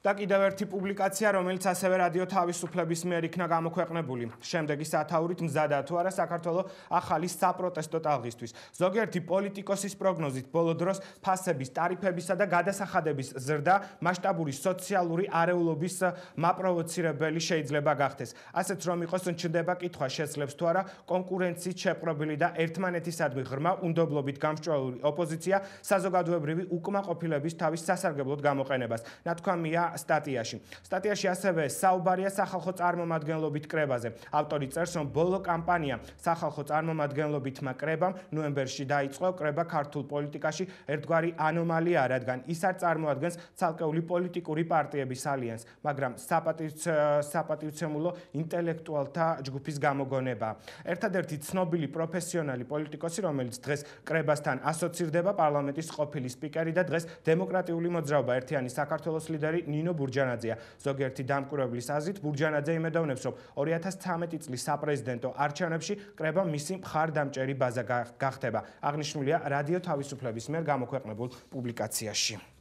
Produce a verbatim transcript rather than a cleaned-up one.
და კიდევ ერთი პუბლიკაცია, რომელიც ასევე რადიო თავისუფლების მიერ იქნა გამოქვეყნებული. შემდეგი სათაურით მზადაა თუ არა საქართველოს ახალი საპროტესტო ტალღისთვის. ზოგიერთი პოლიტიკოსის პროგნოზით ბოლო დროს ფასების, ტარიფებისა და გადასახადების ზრდა მასშტაბური სოციალური არეულობის მაპროვოცირებელი შეიძლება გახდეს. ასეც რომ იყოს, ჩნდება კითხვა შეძლებს თუ არა კონკურენციით შეპყრობილი და ერთმანეთისადმი ღრმა უნდობლობით გამსჭვალული ოპოზიცია საზოგადოებრივი უკმაყოფილების თავის სასარგებლოდ გამოყენებას. ნათქვამია სტატიაში. სტატიაში ასევე საუბარია სახალხო წარმომადგენლობით კრებაზე. ავტორი წერს, რომ ბოლო კამპანია სახალხო წარმომადგენლობითმა კრებამ ნოემბერში დაიწყო. კრება ქართულ პოლიტიკაში ერთგვარი ანომალია, რადგან ის არ წარმოადგენს ცალკეული პოლიტიკური პარტიების ალიანსს, მაგრამ საპატივცემულო ინტელექტუალთა ჯგუფის გამოგონება. ერთადერთი ცნობილი პროფესიონალი პოლიტიკოსი, რომელიც დღეს კრებასთან ასოცირდება, პარლამენტის ყოფილი სპიკერი და დღეს დემოკრატიული მოძრაობა ერთიანი საქართველოს ლიდერი ნინო ბურჯანაძეა. ზოგიერთი დამკვირვებლის აზრით, ბურჯანაძე იმედოვნებს, რომ ორი ათას ცხრამეტი წლის საპრეზიდენტო არჩევნებში კრება მისი მხარდამჭერი ბაზა გახდება. აღნიშნულია რადიო თავისუფლების მიერ გამოქვეყნებულ პუბლიკაციაში.